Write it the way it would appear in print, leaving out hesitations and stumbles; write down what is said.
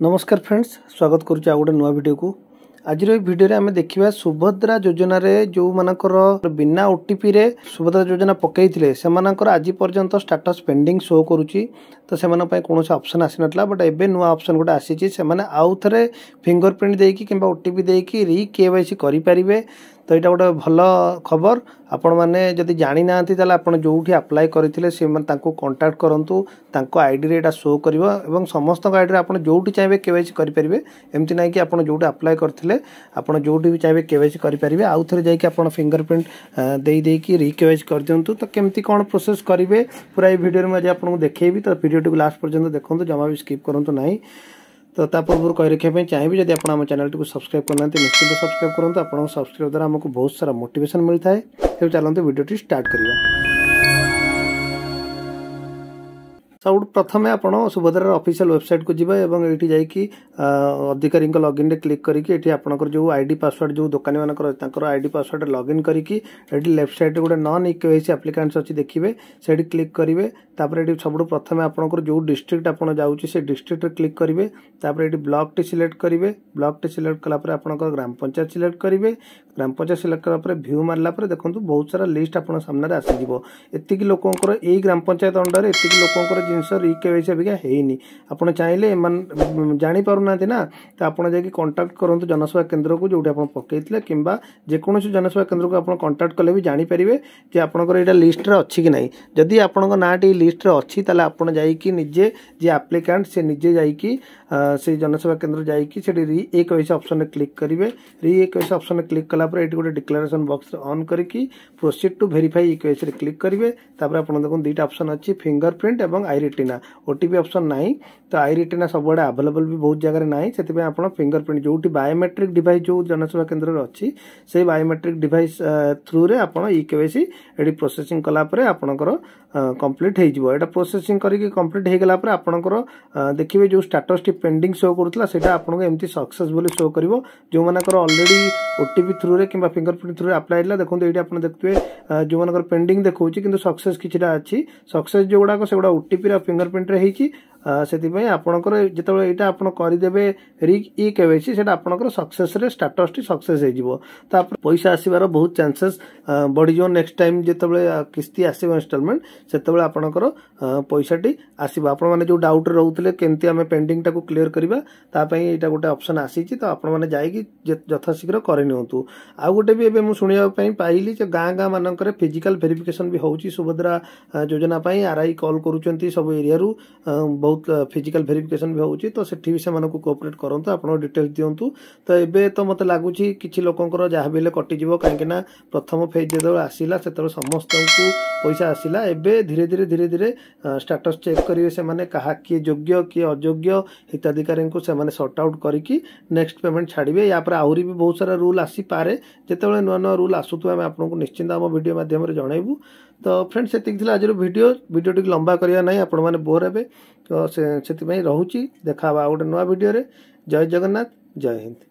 ନମସ୍କାର ଫ୍ରେଣ୍ଡସ୍, ସ୍ୱାଗତ କରୁଛି ଆଉ ଗୋଟେ ନୂଆ ଭିଡ଼ିଓକୁ। ଆଜିର ଏଇ ଭିଡ଼ିଓରେ ଆମେ ଦେଖିବା ସୁଭଦ୍ରା ଯୋଜନାରେ ଯେଉଁମାନଙ୍କର ବିନା ଓଟିପିରେ ସୁଭଦ୍ରା ଯୋଜନା ପକାଇଥିଲେ, ସେମାନଙ୍କର ଆଜି ପର୍ଯ୍ୟନ୍ତ ଷ୍ଟାଟସ୍ ପେଣ୍ଡିଂ ଶୋ କରୁଛି। ତ ସେମାନଙ୍କ ପାଇଁ କୌଣସି ଅପସନ୍ ଆସିନଥିଲା, ବଟ୍ ଏବେ ନୂଆ ଅପସନ୍ ଗୋଟେ ଆସିଛି। ସେମାନେ ଆଉ ଥରେ ଫିଙ୍ଗର ପ୍ରିଣ୍ଟ ଦେଇକି କିମ୍ବା ଓଟିପି ଦେଇକି ରି କେୱାଇସି କରିପାରିବେ। ତ ଏଇଟା ଗୋଟେ ଭଲ ଖବର। ଆପଣମାନେ ଯଦି ଜାଣିନାହାନ୍ତି, ତାହେଲେ ଆପଣ ଯେଉଁଠି ଆପ୍ଲାଏ କରିଥିଲେ ସେମାନେ ତାଙ୍କୁ କଣ୍ଟାକ୍ଟ କରନ୍ତୁ। ତାଙ୍କ ଆଇଡ଼ିରେ ଏଇଟା ଶୋ କରିବ ଏବଂ ସମସ୍ତଙ୍କ ଆଇଡ଼ିରେ ଆପଣ ଯେଉଁଠି ଚାହିଁବେ କେୱାଇସି କରିପାରିବେ। ଏମିତି ନାହିଁ କି ଆପଣ ଯେଉଁଠି ଆପ୍ଲାଏ କରିଥିଲେ, ଆପଣ ଯେଉଁଠି ବି ଚାହିଁବେ କେୱାଇସି କରିପାରିବେ। ଆଉ ଥରେ ଯାଇକି ଆପଣ ଫିଙ୍ଗର ପ୍ରିଣ୍ଟ ଦେଇ ଦେଇକି ରି କେୱାଇସି କରିଦିଅନ୍ତୁ। ତ କେମିତି କ'ଣ ପ୍ରୋସେସ୍ କରିବେ, ପୁରା ଏଇ ଭିଡ଼ିଓରେ ମୁଁ ଆଜି ଆପଣଙ୍କୁ ଦେଖେଇବି। ତ ଭିଡ଼ିଓଟିକୁ ଲାଷ୍ଟ ପର୍ଯ୍ୟନ୍ତ ଦେଖନ୍ତୁ, ଜମା ବି ସ୍କିପ୍ କରନ୍ତୁ ନାହିଁ। ତ ତା ପୂର୍ବରୁ କହି ରଖିବା ପାଇଁ ଚାହିଁବି, ଯଦି ଆପଣ ଆମ ଚ୍ୟାନେଲଟିକୁ ସବସ୍କ୍ରାଇବ୍ କରିନାହାନ୍ତି, ନିଶ୍ଚିତ ସବସ୍କ୍ରାଇବ୍ କରନ୍ତୁ। ଆପଣଙ୍କ ସବସ୍କ୍ରାଇବ୍ ଦ୍ୱାରା ଆମକୁ ବହୁତ ସାରା ମୋଟିଭେସନ୍ ମିଳିଥାଏ। ତେବେ ଚାଲନ୍ତୁ ଭିଡ଼ିଓଟି ଷ୍ଟାର୍ଟ କରିବା। ସବୁଠୁ ପ୍ରଥମେ ଆପଣ ସୁଭଦ୍ରାର ଅଫିସିଆଲ ୱେବସାଇଟ୍କୁ ଯିବେ ଏବଂ ଏଇଠି ଯାଇକି ଅଧିକାରୀଙ୍କ ଲଗ୍ଇନ୍ରେ କ୍ଲିକ୍ କରିକି ଏଠି ଆପଣଙ୍କର ଯେଉଁ ଆଇଡି ପାସୱାର୍ଡ଼, ଯେଉଁ ଦୋକାନୀମାନଙ୍କର, ତାଙ୍କର ଆଇଡି ପାସୱାର୍ଡ଼ ଲଗ୍ଇନ୍ କରିକି ଏଠି ଲେଫ୍ଟ ସାଇଡ଼୍ରେ ଗୋଟେ ନନ୍ ଇକେୱାଇସି ଆପ୍ଲିକାଣ୍ଟସ୍ ଅଛି ଦେଖିବେ, ସେଇଠି କ୍ଲିକ୍ କରିବେ। ତାପରେ ଏଠି ସବୁଠୁ ପ୍ରଥମେ ଆପଣଙ୍କର ଯେଉଁ ଡିଷ୍ଟ୍ରିକ୍ଟ ଆପଣ ଯାଉଛି, ସେ ଡିଷ୍ଟ୍ରିକ୍ଟରେ କ୍ଲିକ୍ କରିବେ। ତାପରେ ଏଠି ବ୍ଲକଟି ସିଲେକ୍ଟ କରିବେ। ବ୍ଲକଟି ସିଲେକ୍ଟ କଲା ପରେ ଆପଣଙ୍କର ଗ୍ରାମ ପଞ୍ଚାୟତ ସିଲେକ୍ଟ କରିବେ। ଗ୍ରାମ ପଞ୍ଚାୟତ ସିଲେକ୍ଟ କଲା ପରେ ଭ୍ୟୁ ମାରିଲା ପରେ ଦେଖନ୍ତୁ, ବହୁତ ସାରା ଲିଷ୍ଟ ଆପଣଙ୍କ ସାମ୍ନାରେ ଆସିଯିବ। ଏତିକି ଲୋକଙ୍କର ଏଇ ଗ୍ରାମ ପଞ୍ଚାୟତ ଅଣ୍ଡରରେ ଏତିକି ଲୋକଙ୍କର ଜିନିଷ ରିକେୱାଇସି ଅବିକା ହେଇନି। ଆପଣ ଚାହିଁଲେ, ଏମାନେ ଜାଣିପାରୁନାହାନ୍ତି ନା, ତ ଆପଣ ଯାଇକି କଣ୍ଟାକ୍ଟ କରନ୍ତୁ ଜନସେବା କେନ୍ଦ୍ରକୁ ଯେଉଁଠି ଆପଣ ପକେଇଥିଲେ, କିମ୍ବା ଯେକୌଣସି ଜନସେବା କେନ୍ଦ୍ରକୁ ଆପଣ କଣ୍ଟାକ୍ଟ କଲେ ବି ଜାଣିପାରିବେ ଯେ ଆପଣଙ୍କର ଏଇଟା ଲିଷ୍ଟରେ ଅଛି କି ନାହିଁ। ଯଦି ଆପଣଙ୍କ ନାଁଟି ଲିଷ୍ଟରେ ଅଛି, ତାହେଲେ ଆପଣ ଯାଇକି ନିଜେ, ଯିଏ ଆପ୍ଲିକାଣ୍ଟ ସେ ନିଜେ ଯାଇକି ସେଇ ଜନସେବା କେନ୍ଦ୍ର ଯାଇକି ସେଠି ରି ଏ କେୱାଇସି ଅପସନରେ କ୍ଲିକ୍ କରିବେ। ରି ଏ କେୱାଇସି ଅପସନରେ କ୍ଲିକ୍ କଲା ପରେ ଏଇଠି ଗୋଟେ ଡିକ୍ଲାରେସନ୍ ବକ୍ସ ଅନ୍ କରିକି ପ୍ରୋସିଡ୍ ଟୁ ଭେରିଫାଇ ଇ କେୱାଇସିରେ କ୍ଲିକ୍ କରିବେ। ତାପରେ ଆପଣ ଦେଖନ୍ତୁ, ଦୁଇଟା ଅପସନ୍ ଅଛି, ଫିଙ୍ଗର ପ୍ରିଣ୍ଟ ଏବଂ I retina. OTP option ନାହିଁ। ତ I retina ସବୁଆଡ଼େ ଆଭେଲେବଲ୍ ବି ବହୁତ ଜାଗାରେ ନାହିଁ। ସେଥିପାଇଁ ଆପଣ ଫିଙ୍ଗର ପ୍ରିଣ୍ଟ, ଯେଉଁଠି ବାୟୋମେଟ୍ରିକ୍ ଡିଭାଇସ୍ ଯେଉଁ ଜନସେବା କେନ୍ଦ୍ରରେ ଅଛି, ସେଇ ବାୟୋମେଟ୍ରିକ୍ ଡିଭାଇସ୍ ଥ୍ରୁରେ ଆପଣ ଇ କେୱାଇସି ଏଠି ପ୍ରୋସେସିଂ କଲା ପରେ ଆପଣଙ୍କର କମ୍ପ୍ଲିଟ୍ ହେଇଯିବ। ଏଇଟା ପ୍ରୋସେସିଂ କରିକି କମ୍ପ୍ଲିଟ୍ ହେଇଗଲା ପରେ ଆପଣଙ୍କର ଦେଖିବେ, ଯେଉଁ ଷ୍ଟାଟସ୍ଟି ପେଣ୍ଡିଂ ଶୋ କରୁଥିଲା, ସେଇଟା ଆପଣଙ୍କୁ ଏମିତି ସକ୍ସେସ୍ ବୋଲି ଶୋ କରିବ। ଯେଉଁମାନଙ୍କର ଅଲରେଡ଼ି ଓଟିପି ଥ୍ରୁରେ କିମ୍ବା ଫିଙ୍ଗର ପ୍ରିଣ୍ଟ ଥ୍ରୁରେ ଆପ୍ଲାଏ ହେଇଥିଲା, ଦେଖନ୍ତୁ, ଏଇଠି ଆପଣ ଦେଖୁଥିବେ, ଯେଉଁମାନଙ୍କର ପେଣ୍ଡିଂ ଦେଖାଉଛି କିନ୍ତୁ ସକ୍ସେସ୍ କିଛିଟା ଅଛି। ସକ୍ସେସ୍ ଯେଉଁଗୁଡ଼ାକ, ସେଗୁଡ଼ା ଓଟିପିର ଫିଙ୍ଗର ପ୍ରିଣ୍ଟରେ ହେଇଛି। ସେଥିପାଇଁ ଆପଣଙ୍କର ଯେତେବେଳେ ଏଇଟା ଆପଣ କରିଦେବେ ରି ଇ କେୱାଇସି, ସେଇଟା ଆପଣଙ୍କର ସକ୍ସେସରେ ଷ୍ଟାଟସଟି ସକ୍ସେସ୍ ହେଇଯିବ। ତାପରେ ପଇସା ଆସିବାର ବହୁତ ଚାନ୍ସେସ୍ ବଢ଼ିଯିବ। ନେକ୍ସଟ ଟାଇମ୍ ଯେତେବେଳେ କିସ୍ତି ଆସିବ, ଇନଷ୍ଟଲମେଣ୍ଟ, ସେତେବେଳେ ଆପଣଙ୍କର ପଇସାଟି ଆସିବ। ଆପଣମାନେ ଯେଉଁ ଡାଉଟ୍ରେ ରହୁଥିଲେ କେମିତି ଆମେ ପେଣ୍ଡିଂଟାକୁ କ୍ଲିୟର କରିବା, ତା ପାଇଁ ଏଇଟା ଗୋଟେ ଅପସନ୍ ଆସିଛି। ତ ଆପଣମାନେ ଯାଇକି ଯଥାଶୀଘ୍ର କରିନିଅନ୍ତୁ। ଆଉ ଗୋଟେ ବି ଏବେ ମୁଁ ଶୁଣିବା ପାଇଁ ପାଇଲି ଯେ ଗାଁ ଗାଁ ମାନଙ୍କରେ ଫିଜିକାଲ ଭେରିଫିକେସନ୍ ବି ହେଉଛି ସୁଭଦ୍ରା ଯୋଜନା ପାଇଁ। ଆର୍ଆଇ କଲ୍ କରୁଛନ୍ତି ସବୁ ଏରିଆରୁ, ବହୁତ ଫିଜିକାଲ ଭେରିଫିକେସନ୍ ବି ହେଉଛି। ତ ସେଠି ବି ସେମାନଙ୍କୁ କୋଅପରେଟ୍ କରନ୍ତୁ, ଆପଣଙ୍କ ଡିଟେଲ୍ସ ଦିଅନ୍ତୁ। ତ ଏବେ ତ ମୋତେ ଲାଗୁଛି କିଛି ଲୋକଙ୍କର ଯାହା ବି ହେଲେ କଟିଯିବ, କାହିଁକି ନା ପ୍ରଥମ ଫେଜ୍ ଯେତେବେଳେ ଆସିଲା, ସେତେବେଳେ ସମସ୍ତଙ୍କୁ ପଇସା ଆସିଲା। ଏବେ ଧୀରେ ଧୀରେ ଧୀରେ ଧୀରେ ଷ୍ଟାଟସ୍ ଚେକ୍ କରିବେ ସେମାନେ, କାହା କିଏ ଯୋଗ୍ୟ କିଏ ଅଯୋଗ୍ୟ ହିତାଧିକାରୀଙ୍କୁ ସେମାନେ ସର୍ଟ ଆଉଟ୍ କରିକି ନେକ୍ସଟ ପେମେଣ୍ଟ ଛାଡ଼ିବେ। ୟା ପରେ ଆହୁରି ବି ବହୁତ ସାରା ରୁଲ୍ ଆସିପାରେ। ଯେତେବେଳେ ନୂଆ ନୂଆ ରୁଲ୍ ଆସୁଥିବ, ଆମେ ଆପଣଙ୍କୁ ନିଶ୍ଚିନ୍ତ ଆମ ଭିଡ଼ିଓ ମାଧ୍ୟମରେ ଜଣାଇବୁ। ତ ଫ୍ରେଣ୍ଡ, ସେତିକି ଥିଲା ଆଜିର ଭିଡ଼ିଓ। ଭିଡ଼ିଓଟିକୁ ଲମ୍ବା କରିବା ନାହିଁ, ଆପଣମାନେ ବୋର୍ ହେବେ, ତ ସେଥିପାଇଁ ରହୁଛି। ଦେଖା ହେବା ଆଉ ଗୋଟେ ନୂଆ ଭିଡ଼ିଓରେ। ଜୟ ଜଗନ୍ନାଥ, ଜୟ ହିନ୍ଦ।